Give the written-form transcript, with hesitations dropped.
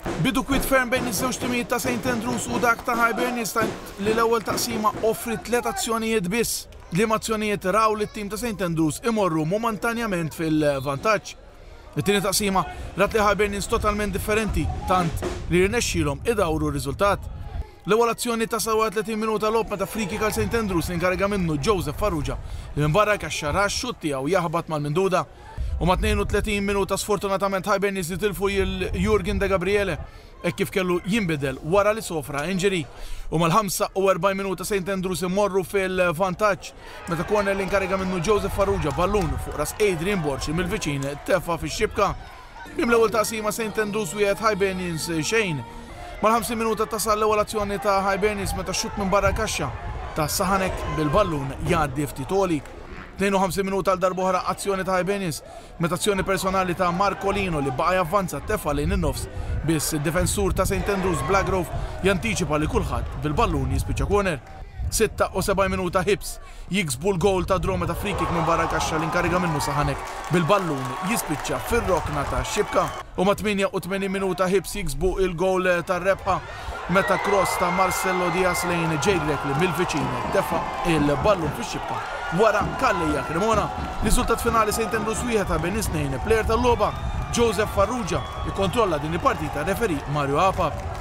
Bidu kwiet ferm bejn iż-żewġ timijiet ta' St Andrews u dak ta' Hibernians tant li l-ewwel taqsima offriet tliet azzjonijiet biss, liema azzjonijiet raw lit-tim ta' St Andrews imorru momentanjament fil-vantaġġ. It-tieni taqsima rat li Hibernians totalment differenti tant li rnexxielhom idawru r-riżultat. L-ewwel azzjoni tasal wara 30 minuta logħob meta free kick għal St Andrews li inkariga minnu Joseph Farrugia li minn barra l-kaxxa ra x-xutt tiegħu jaħbat mal-minduda. U ma' 32 minuta sfortunatament Hibernians jitilfu lil Jurgen De Gabriele hekk kif kellu jinbidel wara li sofra injury. U mal-45 minuta St Andrews imorru fil-vantaġġ meta corner li inkariga minnu Joseph Farrugia ballun fuq ras Adrian Borg li mill-viċin tefa' fix-xibka. Minn l-ewwel taqsima St Andrews wieħed Hibernians xejn. Mal-50 minuta tasal l-ewwel azzjoni ta' Hibernians meta xutt minn barra l-kaxxa ta' Sahanek bil-ballun jgħaddi ftit għoli. 52 minuta għal darb'oħra azzjoni ta' Hibernians meta azzjoni personali ta' Marcolino li baqa' javvanza tefa' lejn in-nofs biss id-difensur ta' St Andrews Blagrove jantiċipa li kulħadd bil-ballun jispiċċa corner. 76 minuta Hibs jiksbu l-gowl ta' draw meta free kick minn barra l-kaxxa li nkariga minnu Sahanek bil-ballun jispiċċa fir-rokna tax-xibka. U mat-88 minuta Hibs jiksbu l-gowl tar-rebħa meta cross ta' Marcelo Diaz lejn Jay Grech li mill-viċin tefa' l-ballun fix-xibka wara Calleja Cremona. Riżultat finali St Andrews 1, Hibernians 2. Player tal-logħba Joseph Farrugia ikkontrolla din il-partita referee Mario Apap.